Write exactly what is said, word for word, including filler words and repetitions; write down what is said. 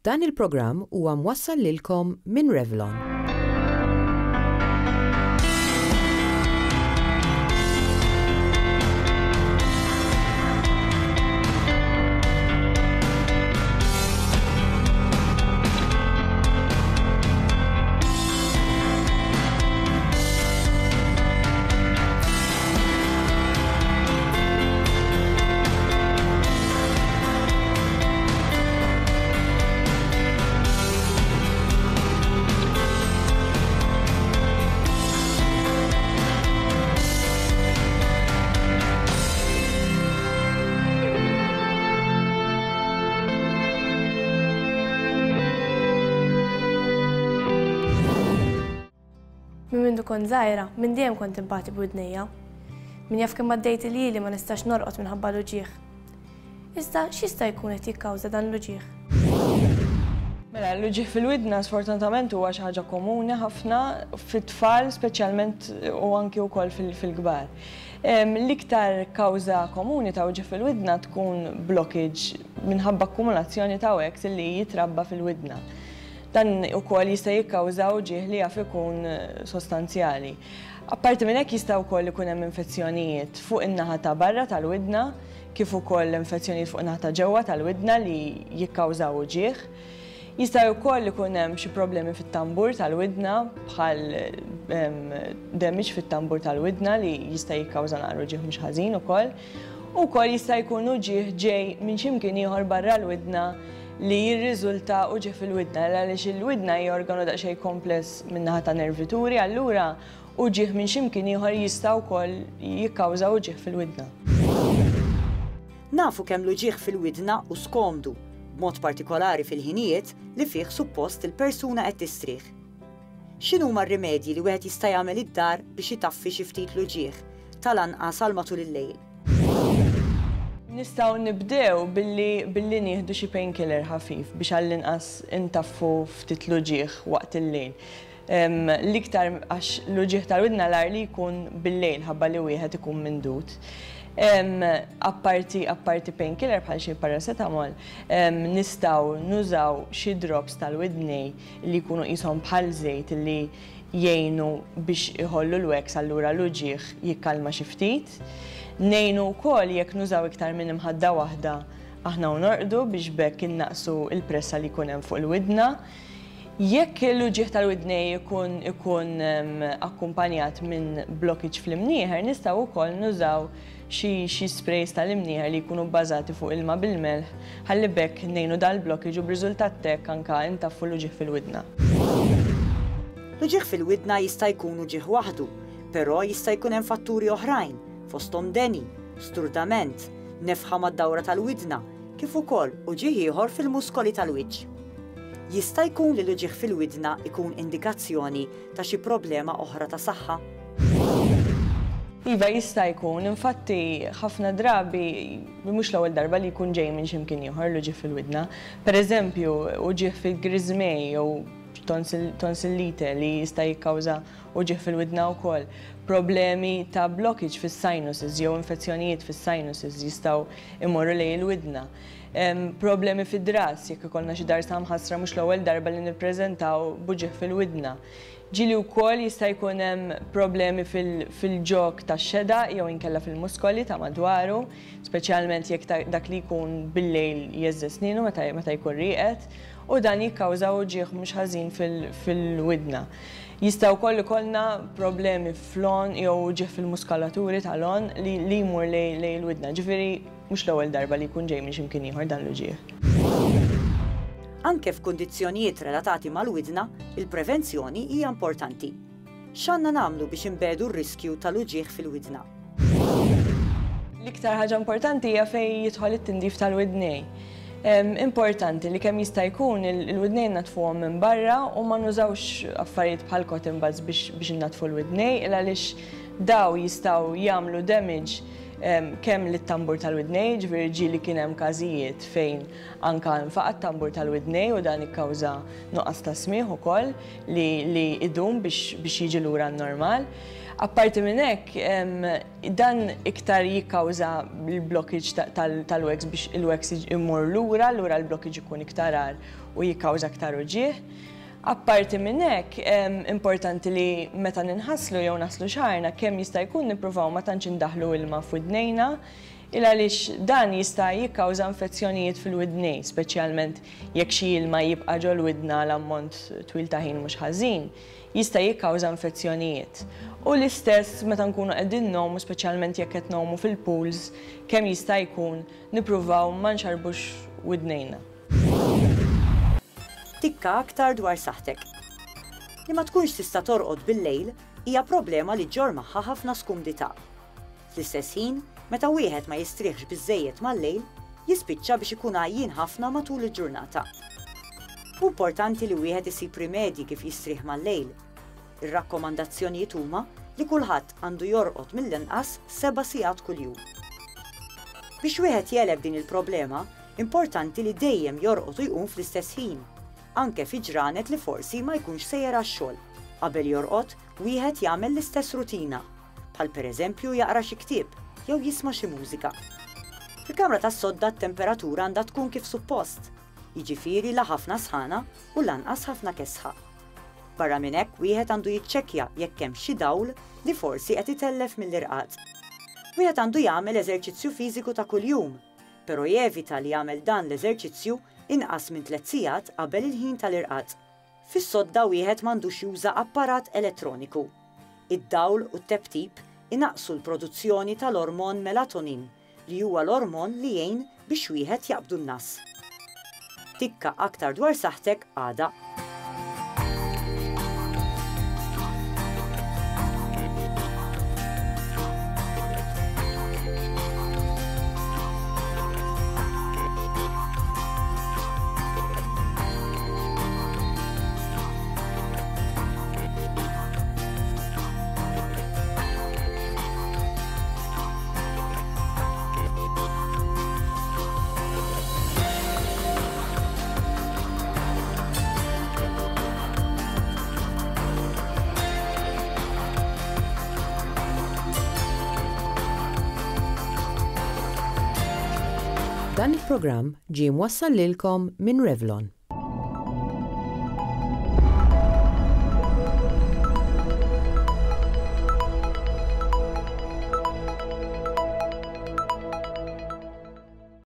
Dan il-programm huwa mwassal lilkom minn Revlon. Minn mindu kont żgħira, minn dejjem kont inbati b'widnejja. Min jaf kemm għaddejt iljieli ma nistax norqod minħabba l-uġigħ. Iżda x'jista' jkun qed jikkawża dan l-uġigħ? Mela, l-uġigħ fil-widna sfortunatament huwa xi ħaġa komuni ħafna fit-tfal speċjalment u anki wkoll fil-kbar. L-iktar kawża komuni ta' uġigħ fil-widna tkun blockage minħabba akkumulazzjoni ta' wax li jitrabba fil-widna. Dan ukoll jista' jikkawża uġigħ li jaf ikun sostanzjali. Apparti minn hekk jista' wkoll ikun hemm infezzjonijiet fuq in-naħa ta' barra tal-widna, kif ukoll infezzjonijiet fuq in-naħa ta' ġewwa tal-widna li jikkawżaw uġigħ. Jista' wkoll ikun hemm xi problemi fit-tambur tal-widna bħal damage fit-tambur tal-widna li jista' jikkawża naqra uġigħ mhux ħażin ukoll. U wkoll jista' jkun uġigħ ġej minn xi mkien ieħor barra l-widna li jirriżulta uġigħ fil-widna, għaliex il-widna hija organu daqsxejn kompless min-naħa ta' nervituri, allura uġigħ minn xi mkien ieħor jista' wkoll jikkawża uġigħ fil-widna. Nafu kemm l-uġigħ fil-widna hu skomdu, b'mod partikolari fil-ħinijiet li fih suppost il-persuna qed tistrieħ. X'inhuma r-rimedji li wieħed jista' jagħmel id-dar biex itaffi xi ftit l-uġigħ, tal-anqas għal matul il-lejl? Nistgħu nibdew billi, billi nieħdu xi painkiller ħafif biex għall-inqas intaffu ftit l-uġigħ waqt il-lejl. L-iktar għax l-uġigħ tal-widna l-agħar li jkun bil-lejl ħabba li wieħed ikun mindud. Apparti, apparti painkiller bħal xi paracetamol, nistgħu nużaw xi drops tal-widnej li jkunu qishom bħal żejt li jgħinu biex iħollu l-wax, allura l-uġigħ jikkalma xi ftit. Ngħinu wkoll jekk nużaw iktar minn imħadda waħda aħna u norqdu biex b'hekk innaqsu l-pressa li jkun hemm fuq il-widna. Jekk l-uġigħ tal-widnej ikun, ikun akkumpanjat minn blockage fl-imnieħer, nistgħu wkoll nużaw xi, xi sprays tal-imnieħer li jkunu bbażati fuq ilma bil-melħ, ħalli b'hekk ngħinu dal-blockage u b'riżultat hekk anke intaffu l-uġigħ fil-widna. L-uġigħ fil-widna jista' jkun uġigħ waħdu, però jista' jkun hemm fatturi oħrajn, fosthom deni, sturdament, nefħa mad-dawra tal-widna, kif ukoll uġigħ ieħor fil-muskoli tal-wiċċ. Jista' jkun li l-uġigħ fil-widna ikun indikazzjoni ta' xi problema oħra ta' saħħa? Iva, jista' jkun. Infatti, ħafna drabi, mhux l-ewwel darba li jkun ġej minn xi mkien ieħor l-uġigħ fil-widna. Per eżempju, uġigħ fil-griżmej jew tonsillite li jista' jikkawża uġigħ fil-widna wkoll. Problemi ta' blockage fis-sinuses jew infezzjonijiet fis-sinuses jistgħu imorru lejn il-widna. Problemi fid-dras, jekk ikollna xi darsa mħassra mhux l-ewwel darba li nippreżentaw b'uġigħ fil-widna. Ġieli wkoll jista' jkun hemm problemi fil-ġog tax-xedaq jew inkella fil-muskoli ta' madwaru, speċjalment jekk dak li jkun bil-lejl jeżżi snienu meta jkun rieqed, u dan jikkawża uġigħ mhux ħażin fil-widna. Jista' wkoll ikollna problemi fl-għonq jew uġigħ fil-muskolaturi tal-għonq li jmur lejn il-widna. Ġifieri mhux l-ewwel darba li jkun ġej minn xi mkien ieħor dan l-uġigħ. Anke f'kundizzjonijiet relatati mal-widna, il-prevenzjoni hija importanti. X'għandna nagħmlu biex inbedu r-riskju tal-uġigħ fil-widna? L-iktar ħaġa importanti hija fejn jidħol it-tindif tal-widnej. Importanti li kemm jista' jkun il-widnejn natfuhom minn barra u ma nużawx affarijiet bħal cotton buds biex, biex innatfu l-widnej, għaliex daw jistgħu jagħmlu damage kemm lit-tambur tal-widnej, ġifieri ġieli kien hemm każijiet fejn anka nfaqa' t-tambur tal-widnej u dan ikkawża nuqqas ta' smigħ ukoll li, li idum biex, biex jiġi lura n-normal. Apparti minn hekk, dan iktar jikkawża l-blockage tal-wax biex il-wax imur lura, lura l-blockage ikun iktar għar u jikkawża aktar uġigħ. Apparti minn hekk, importanti li meta ninħaslu jew naħslu xagħarna kemm jista' jkun nippruvaw ma tantx indaħlu ilma f'widnejna, il għaliex dan jista' jikkawża infezzjonijiet fil-widnej, speċjalment jekk xi ilma jibqa' ġol-widna l-ammont twil ta' ħin mhux ħażin, jista' jikkawża infezzjonijiet. U l-istess meta nkunu qegħdin nagħumu, speċjalment jekk qed nagħumu fil-pools, kemm jista' jkun nippruvaw ma nxarbux widnejna. Tikka aktar dwar saħħtek. Li ma tkunx tista' torqod bil-lejl hija problema li ġġorr magħha ħafna skumdità. Fl-istess ħin, meta wieħed ma jistrieħx biżżejjed mal-lejl, jispiċċa biex ikun għajjien ħafna matul il-ġurnata. Hu importanti li wieħed isib rimedji kif jistrieħ mal-lejl. Ir-rakkomandazzjonijiet huma li kulħadd għandu jorqod mill-inqas seba' sigħat kuljum. Biex wieħed jeleb din il-problema, importanti li dejjem jorqod u jqum fl-istess ħin, anke fi ġranet li forsi ma jkunx sejjer għax-xogħol. Qabel jorqod, wieħed jagħmel l-istess rutina, bħal pereżempju jaqra xi ktieb jew jisma' xi mużika. Fil-kamra tas-sodda t-temperatura għandha tkun kif suppost, jiġifieri la ħafna sħana u lanqas ħafna kesħa. Barra minn hekk wieħed għandu jiċċekkja jekk hemm xi dawl li forsi qed itellef mill-irqad. Wieħed għandu jagħmel eżerċizzju fiżiku ta' kuljum, però jevita li jagħmel dan l-eżerċizzju inqas minn tliet sigħat qabel il-ħin tal-irqad. Fis-sodda wieħed m'għandux juża apparat elettroniku. Id-dawl u t-teptip inaqsu l-produzzjoni tal-ormon melatonin, li huwa l-ormon li jgħin biex wieħed jaqbdu n-nas. Tikka aktar dwar saħħtek għada. Dan il-programm ġie mwassal lilkom minn Revlon.